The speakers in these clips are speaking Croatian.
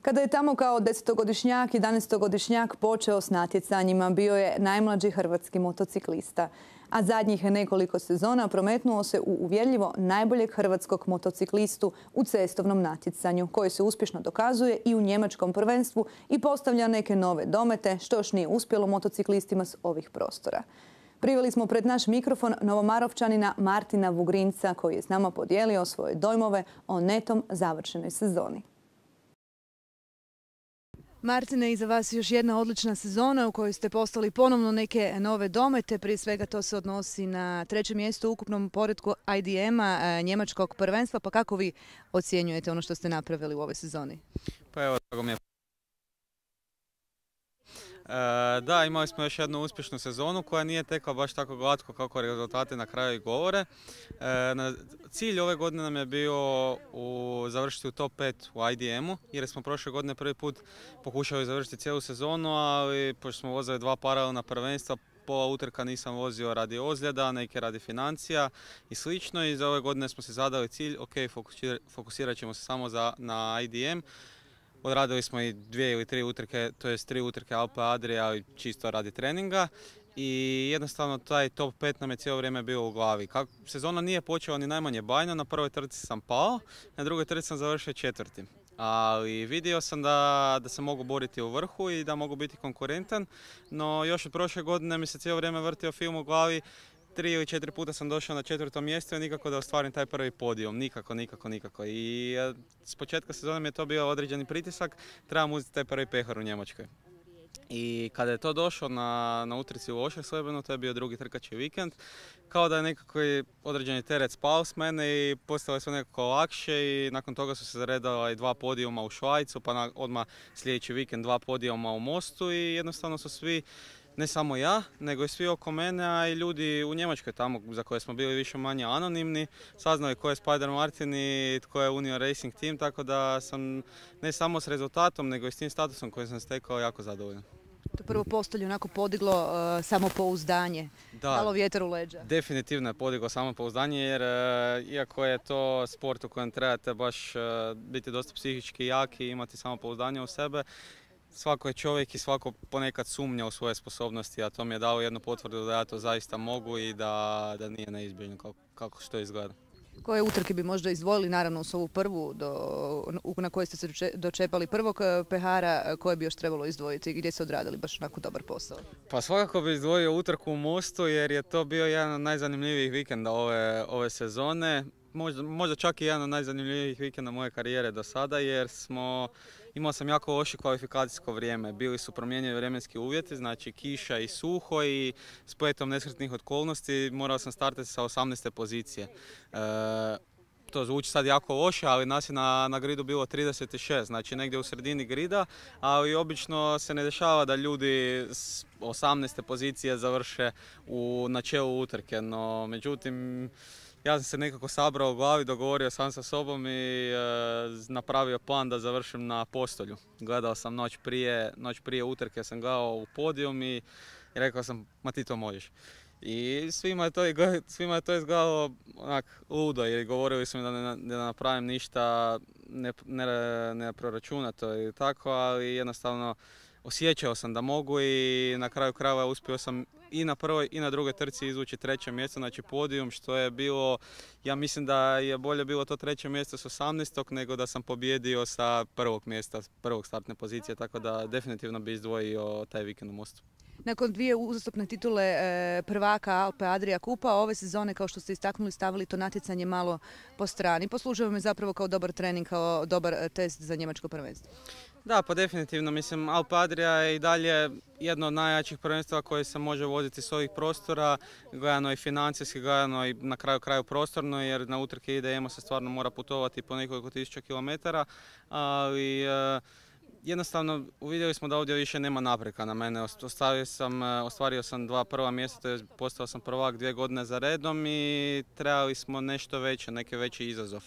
Kada je tamo kao 10-godišnjak, 11-godišnjak počeo s natjecanjima, bio je najmlađi hrvatski motociklista. A zadnjih nekoliko sezona prometnuo se u uvjerljivo najboljeg hrvatskog motociklistu u cestovnom natjecanju, koji se uspješno dokazuje i u njemačkom prvenstvu i postavlja neke nove domete, što još nije uspjelo motociklistima s ovih prostora. Priveli smo pred naš mikrofon Novomarovčanina Martina Vugrinca, koji je s nama podijelio svoje dojmove o netom završenoj sezoni. Martine, iza vas još jedna odlična sezona u kojoj ste postali ponovno neke nove domete. Prije svega to se odnosi na treće mjesto u ukupnom poretku IDM-a njemačkog prvenstva. Pa kako vi ocjenjujete ono što ste napravili u ovoj sezoni? Pa evo, tako mi je. Da, imali smo još jednu uspješnu sezonu koja nije tekla baš tako glatko kako rezultati na kraju i govore. Cilj ove godine nam je bio završiti u top 5 u IDM-u jer smo prošle godine prvi put pokušali završiti cijelu sezonu, ali pošto smo vozili dva paralelna prvenstva, pola utrka nisam vozio radi ozljeda, neke radi financija i slično, i za ove godine smo se zadali cilj, ok, fokusirat ćemo se samo na IDM. Odradili smo i 2 ili 3 utrke, to jest 3 utrke Alpe Adria, ali čisto radi treninga. I jednostavno taj top 5 nam je cijelo vrijeme bio u glavi. Sezona nije počela ni najmanje bajno, na prvoj trci sam pao, na drugoj trci sam završio 4. Ali vidio sam da se mogu boriti u vrhu i da mogu biti konkurentan, no još od prošle godine mi se cijelo vrijeme vrtio film u glavi. 3 ili 4 puta sam došao na 4. mjesto i nikako da ostvarim taj prvi podijum. Nikako. I s početka sezone mi je to bio određeni pritisak, trebam uzeti taj prvi pehar u Njemačkoj. I kada je to došlo na utrci u Oscherslebenu, to je bio drugi trkački vikend, kao da je nekako određeni teret spao s mene i postale su nekako lakše, i nakon toga su se zaredala i 2 podijuma u Švajcu, pa odmah sljedeći vikend 2 podijuma u Mostu, i jednostavno su svi, ne samo ja, nego i svi oko mene, a i ljudi u Njemačkoj tamo za koje smo bili više manje anonimni, saznali ko je Spider Martin i tko je Union Racing Team, tako da sam ne samo s rezultatom, nego i s tim statusom koji sam stekao jako zadovoljan. To prvo postolje onako podiglo samopouzdanje, dalo vjetar u leđa. Definitivno je podiglo samopouzdanje, jer iako je to sport u kojem trebate baš biti dosta psihički jaki i imati samopouzdanje u sebe, svako je čovjek i svako ponekad sumnja u svoje sposobnosti, a to mi je dalo jednu potvrdu da ja to zaista mogu i da nije neizbježno kako što izgleda. Koje utrke bi možda izdvojili, naravno uz ovu prvu na kojoj ste se dočepali prvog pehara, koje bi još trebalo izdvojiti, gdje ste odradili baš onako dobar posao? Pa svakako bi izdvojio utrku u Mostu, jer je to bio jedan od najzanimljivijih vikenda ove sezone. Možda čak i jedan od najzanimljivijih vikenda moje karijere do sada, jer imao sam jako loše kvalifikacijsko vrijeme. Bili su promijenjeni vremenski uvjeti, znači kiša i suho, i spletom nesretnih okolnosti morao sam startati sa 18. pozicije. To zvuči sad jako loše, ali nas je na gridu bilo 36, znači negdje u sredini grida, ali obično se ne dešava da ljudi s 18. pozicije završe na čelu utrke, no međutim ja sam se nekako sabrao u glavi, dogovorio sam sa sobom i napravio plan da završim na postolju. Gledao sam noć prije utrke, sam gledao u podijum i rekao sam, ma ti to možeš. I svima je to izgledalo onak ludo, jer govorili su mi da ne napravim ništa neproračunato i tako, ali jednostavno osjećao sam da mogu, i na kraju krajeva uspio sam i na prvoj i na drugoj trci izvući 3. mjesto, znači podijum, što je bilo, ja mislim da je bolje bilo to 3. mjesto s 18. nego da sam pobjedio sa prvog mjesta, prvog startne pozicije, tako da definitivno bi izdvojio taj vikend u Mostu. Nakon 2 uzastopne titule prvaka Alpe Adria kupa, ove sezone, kao što ste istaknuli, stavili to natjecanje malo po strani. Poslužuje me zapravo kao dobar trening, kao dobar test za njemačko prvenstvo. Da, pa definitivno. Mislim, Alpe Adria je i dalje jedno od najjačih prvenstva koje se može voziti s ovih prostora, gledano i financijski, gledano i na kraju prostorno, jer na utrke IDM-a se stvarno mora putovati po nekoliko tisuća kilometara, ali jednostavno uvidjeli smo da ovdje više nema napreka na mene. Ostvario sam 2 prva mjesta, to je postao sam prvak 2 godine za redom, i trebali smo nešto veće, neki veći izazov.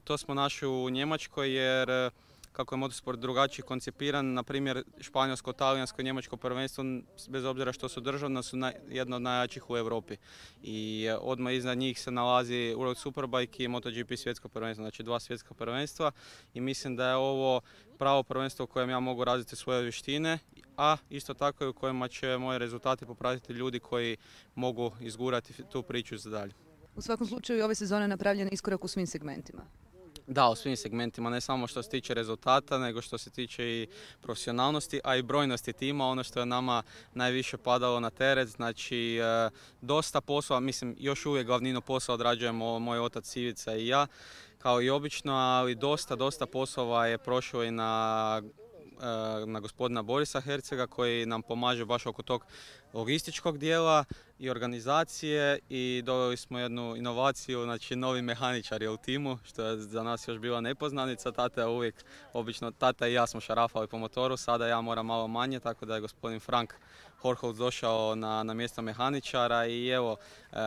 To smo našli u Njemačkoj, jer kako je motosport drugačiji koncipiran, na primjer španjolsko, talijansko, njemačko prvenstvo, bez obzira što su državna, su jedno od najjačih u Europi. I odmah iznad njih se nalazi World Superbike i MotoGP svjetsko prvenstvo, znači 2 svjetska prvenstva i mislim da je ovo pravo prvenstvo u kojem ja mogu razviti svoje vještine, a isto tako i u kojima će moje rezultate popratiti ljudi koji mogu izgurati tu priču za dalje. U svakom slučaju ove sezone napravljen iskorak u svim segmentima. Da, u svim segmentima, ne samo što se tiče rezultata, nego što se tiče i profesionalnosti, a i brojnosti tima, ono što je nama najviše padalo na teret, znači dosta posla, mislim još uvijek glavninu posla odrađujemo moj otac Ivica i ja, kao i obično, ali dosta poslova je prošlo i na gospodina Borisa Hercega koji nam pomaže baš oko tog logističkog dijela i organizacije i doveli smo jednu inovaciju, znači novi mehaničar je u timu, što je za nas još bila nepoznanica. Tata je uvijek, obično tata i ja smo šarafali po motoru, sada ja moram malo manje, tako da je gospodin Frank Horholz došao na mjesto mehaničara i evo,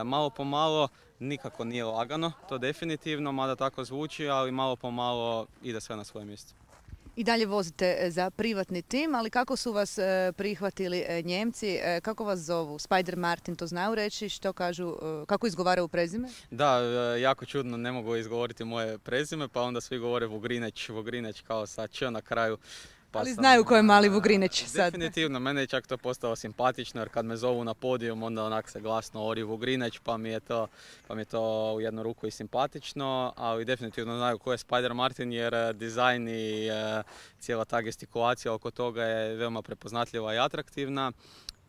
malo po malo, nikako nije lagano, to definitivno, mada tako zvuči, ali malo po malo ide sve na svoje mjesto. I dalje vozite za privatni tim, ali kako su vas prihvatili Njemci, kako vas zovu? Spider Martin, to znaju reći, što kažu, kako izgovaraju prezime? Da, jako čudno, ne mogu izgovoriti moje prezime, pa onda svi govore Vugrineć kao sa č na kraju. Pa ali znaju ko je mali Vugrineć sad. Definitivno, mene je čak to postalo simpatično jer kad me zovu na podijum onda onak se glasno ori Vugrineć pa mi je to u jednu ruku i simpatično, ali definitivno znaju ko je Spider Martin jer dizajn i cijela ta gestikulacija oko toga je veoma prepoznatljiva i atraktivna.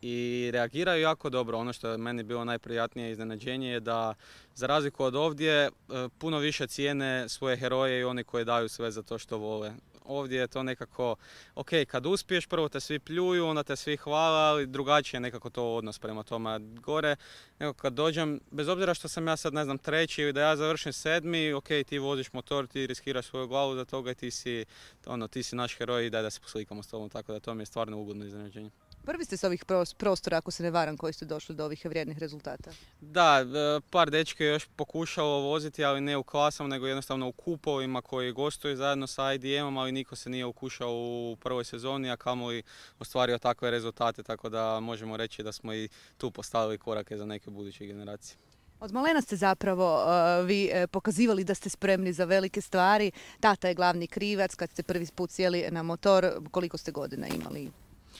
I reagiraju jako dobro. Ono što je meni bilo najprijatnije iznenađenje je da za razliku od ovdje puno više cijene svoje heroje i oni koji daju sve za to što vole. Ovdje je to nekako, ok, kad uspiješ, prvo te svi pljuju, onda te svi hvale, ali drugačije je nekako to odnos prema tome. Gore, nekako kad dođem, bez obzira što sam ja sad, ne znam, treći ili da ja završim 7, ok, ti voziš motor, ti riskiraš svoju glavu za toga i ti si naš heroj i daj da se poslikamo s tobom, tako da to mi je stvarno ugodno iznenađenje. Prvi ste s ovih prostora, ako se ne varam, koji ste došli do ovih vrijednih rezultata? Da, par dečke je još pokušalo voziti, ali ne u klasama, nego jednostavno u kupovima koji gostuju zajedno sa IDM-om, ali niko se nije ukušao u prvoj sezoni, a kamoli ostvario takve rezultate, tako da možemo reći da smo i tu postavili korake za neke buduće generacije. Od malena ste zapravo vi pokazivali da ste spremni za velike stvari. Tata je glavni krivac kad ste prvi put sjeli na motor. Koliko ste godina imali?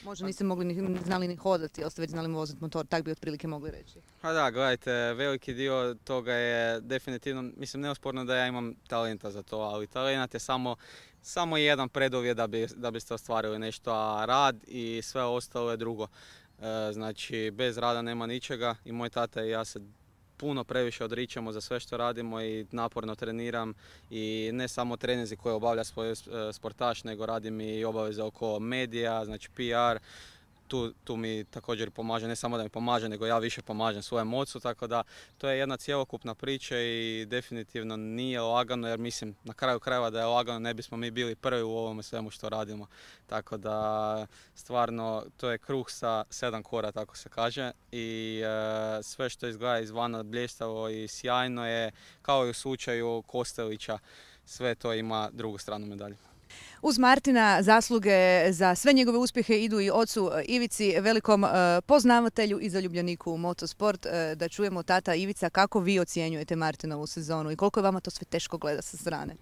Možda niste znali ni hodati, ali ste već znali voziti motor, tak bi otprilike mogli reći. Pa da, gledajte, veliki dio toga je definitivno, mislim neosporno da ja imam talenta za to, ali talent je samo jedan preduvjet da biste ostvarili nešto, a rad i sve ostalo je drugo. Znači, bez rada nema ničega i moj tata i ja se puno previše odričemo za sve što radimo i naporno treniram i ne samo treninzi koje obavlja svoj sportaš, nego radim i obaveze oko medija, znači PR. Tu mi također pomaže, ne samo da mi pomaže, nego ja više pomažem svojem ocu, tako da to je jedna cjelokupna priča i definitivno nije lagano, jer mislim na kraju krajeva da je lagano ne bismo mi bili prvi u ovome svemu što radimo. Tako da stvarno to je kruh sa 7 kora, tako se kaže, i sve što izgleda izvana bljestavo i sjajno je, kao i u slučaju Kostelića, sve to ima drugu stranu medalje. Uz Martina zasluge za sve njegove uspjehe idu i ocu Ivici, velikom poznavatelju i zaljubljeniku u motosport. Da čujemo, tata Ivica, kako vi ocjenjujete Martinovu sezonu i koliko je vama to sve teško gleda sa strane?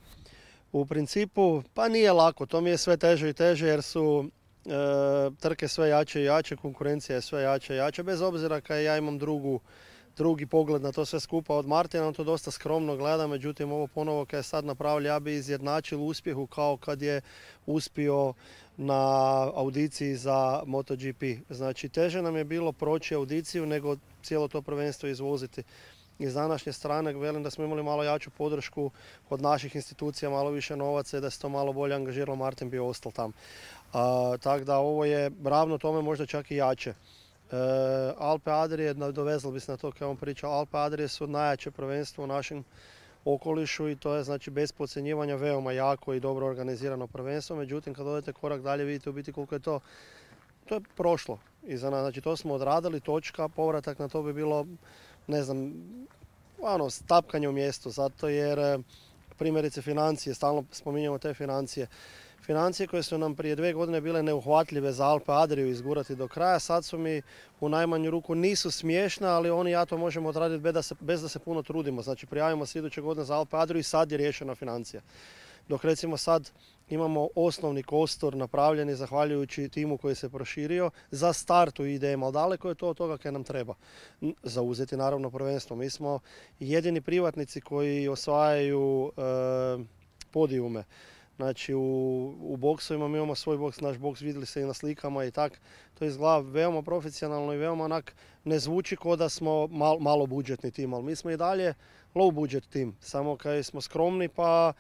U principu, pa nije lako, to mi je sve teže i teže jer su trke sve jače i jače, konkurencija je sve jače i jače, bez obzira kad ja imam drugi pogled na to sve skupa od Martina, on to dosta skromno gleda, međutim ovo ponovo kad je sad napravio, ja bi izjednačil uspjehu kao kad je uspio na audiciji za MotoGP. Znači teže nam je bilo proći audiciju nego cijelo to prvenstvo izvoziti. Iz današnje strane velim da smo imali malo jaču podršku od naših institucija, malo više novaca i da se to malo bolje angažiralo, Martin bi ostao tam. Tako da ovo je ravno tome možda čak i jače. Alpe Adrije, dovezali bi se na to kao on pričao, Alpe Adrije su najjače prvenstvo u našem okolišu i to je znači bez podcjenjivanja veoma jako i dobro organizirano prvenstvo. Međutim, kad odete korak dalje vidite u biti koliko je to je prošlo iza nas. Znači to smo odradili, točka, povratak na to bi bilo, ne znam, tapkanje u mjestu, zato jer primjerice financije, stalno spominjamo te financije. Financije koje su nam prije 2 godine bile neuhvatljive za Alpe Adriju izgurati do kraja, sad su mi u najmanju ruku nisu smiješne, ali oni ja to možemo odraditi bez da se puno trudimo. Znači prijavimo se iduće godine za Alpe Adriju i sad je riješena financija. Dok recimo sad imamo osnovni kostur napravljeni zahvaljujući timu koji se proširio za start u IDM, ali daleko je to od toga kaj nam treba. Zauzeti naravno prvenstvo. Mi smo jedini privatnici koji osvajaju podijume. Znači u boksovima mi imamo svoj boks, naš boks vidjeli se i na slikama i tak. To izgleda veoma profesionalno i veoma onak ne zvuči kao da smo malo budžetni tim, ali mi smo i dalje low budget tim. Samo kaj smo skromni pa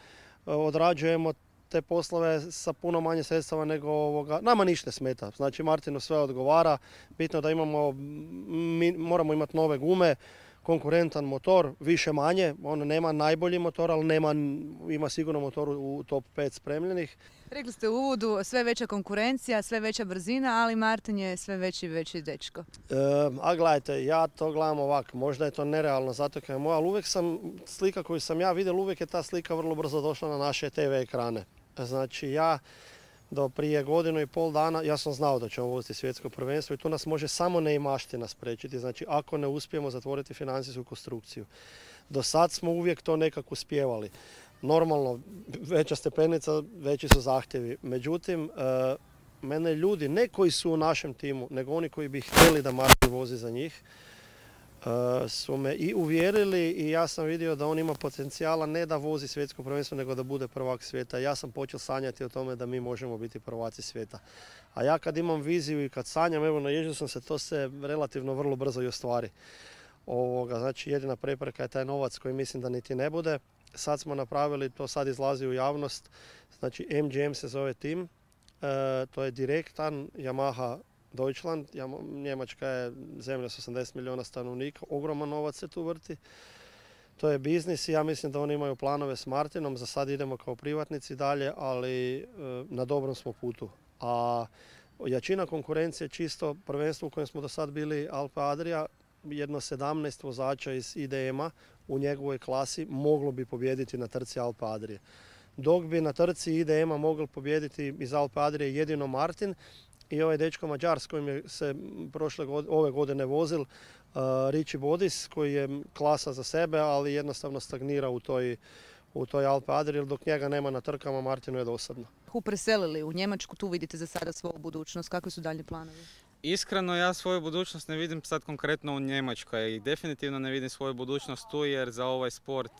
odrađujemo te poslove sa puno manje sredstava nego ovoga. Nama ništa ne smeta. Znači Martinu sve odgovara. Bitno da moramo imati nove gume, konkurentan motor, više manje. On nema najbolji motor, ali ima sigurno motor u top 5 spremljenih. Rekli ste u uvodu, sve veća konkurencija, sve veća brzina, ali Martin je sve veći i veći dečko. A gledajte, ja to gledam ovako, možda je to nerealno zato kaj je moja, ali uvijek slika koju sam ja vidio, uvijek je ta slika vrlo brzo došla na naše TV ekrane. Znači ja do prije 1,5 dana, ja sam znao da ćemo voziti svjetsko prvenstvo i tu nas može samo neimaština spriječiti, znači ako ne uspijemo zatvoriti financijsku konstrukciju. Do sad smo uvijek to nekako uspijevali. Normalno, veća stepenica, veći su zahtjevi. Međutim, mene ljudi, ne koji su u našem timu, nego oni koji bi htjeli da Martin vozi za njih, su me i uvjerili i ja sam vidio da on ima potencijala ne da vozi svjetsko prvenstvo, nego da bude prvak svijeta. Ja sam počeo sanjati o tome da mi možemo biti prvaci svijeta. A ja kad imam viziju i kad sanjam, evo naježio sam se, to se relativno vrlo brzo i ostvari. Znači jedina prepreka je taj novac koji mislim da niti ne bude. Sad smo napravili, to sad izlazi u javnost, znači MGM se zove tim, to je direktan Yamaha Deutschland, Njemačka je zemlja s 80 milijuna stanovnika, ogroman novac se tu vrti. To je biznis i ja mislim da oni imaju planove s Martinom, za sad idemo kao privatnici dalje, ali na dobrom smo putu. A jačina konkurencije čisto prvenstvo u kojem smo do sad bili Alpe Adria, jedno 17 vozača iz IDM-a u njegovoj klasi moglo bi pobijediti na trci Alpe Adrije. Dok bi na trci IDM-a mogli pobijediti iz Alpe Adrije jedino Martin i ovaj dečko Mađar s kojim se ove godine vozil, Richie Bodis, koji je klasa za sebe, ali jednostavno stagnira u toj Alpe Adriji, dok njega nema na trkama, Martinu je dosadno. Preselili u Njemačku, tu vidite za sada svoju budućnost, kakvi su dalje planovi? Iskreno, ja svoju budućnost ne vidim sad konkretno u Njemačkoj i definitivno ne vidim svoju budućnost tu jer za ovaj sport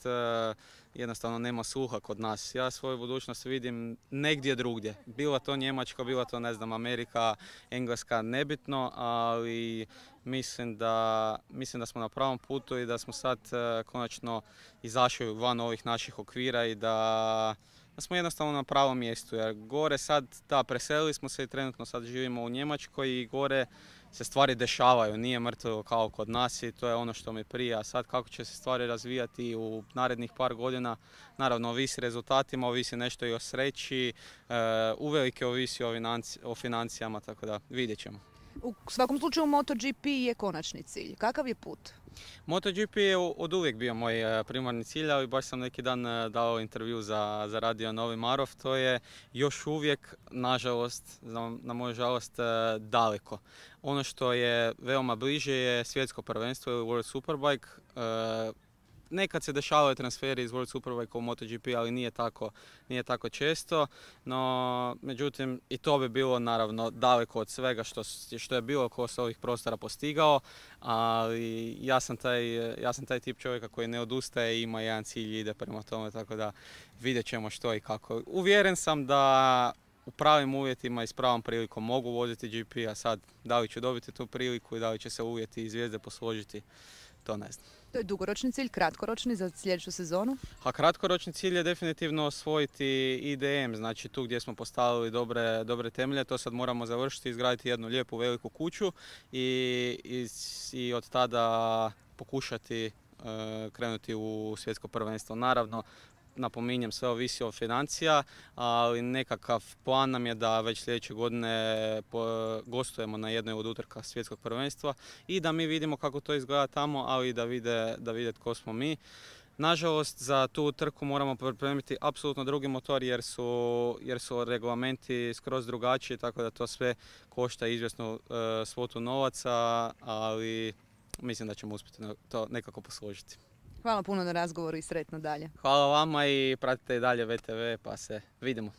jednostavno nema sluha kod nas. Ja svoju budućnost vidim negdje drugdje. Bila to Njemačka, bila to ne znam Amerika, Engleska, nebitno, ali mislim da smo na pravom putu i da smo sad konačno izašli van ovih naših okvira i da smo jednostavno na pravom mjestu, jer gore sad, preselili smo se i trenutno sad živimo u Njemačkoj i gore se stvari dešavaju, nije mrtvo kao kod nas i to je ono što mi prija. A sad kako će se stvari razvijati u narednih par godina, naravno ovisi rezultatima, ovisi nešto i o sreći, uvelike ovisi o financijama, tako da vidjet ćemo. U svakom slučaju MotoGP je konačni cilj. Kakav je put? MotoGP je od uvijek bio moj primarni cilj, ali baš sam neki dan dao intervju za radio Novi Marof. To je još uvijek, nažalost, na moju žalost, daleko. Ono što je veoma bliže je svjetsko prvenstvo ili World Superbike. Nekad se dešavaju transferi iz World Superbike u MotoGP, ali nije tako često. No, međutim, i to bi bilo naravno daleko od svega što je bilo ko s ovih prostora postigao. Ali ja sam taj tip čovjeka koji ne odustaje i ima jedan cilj i ide prema tome, tako da vidjet ćemo što i kako. Uvjeren sam da u pravim uvjetima i s pravom prilikom mogu voziti GP, a sad da li ću dobiti tu priliku i da li će se uvjeti i zvijezde posložiti, to ne znam. To je dugoročni cilj, kratkoročni za sljedeću sezonu? A kratkoročni cilj je definitivno osvojiti IDM, znači tu gdje smo postavili dobre temelje, to sad moramo završiti, izgraditi jednu lijepu veliku kuću i od tada pokušati krenuti u svjetsko prvenstvo. Naravno, napominjem, sve ovisi od financija, ali nekakav plan nam je da već sljedeće godine gostujemo na jednoj od utrka svjetskog prvenstva i da mi vidimo kako to izgleda tamo, ali i da vide tko smo mi. Nažalost, za tu trku moramo pripremiti apsolutno drugi motor jer su reglamenti skroz drugačiji, tako da to sve košta izvjesnu svotu novaca, ali mislim da ćemo uspjeti to nekako posložiti. Hvala puno na razgovoru i sretno dalje. Hvala vama i pratite i dalje VTV pa se vidimo.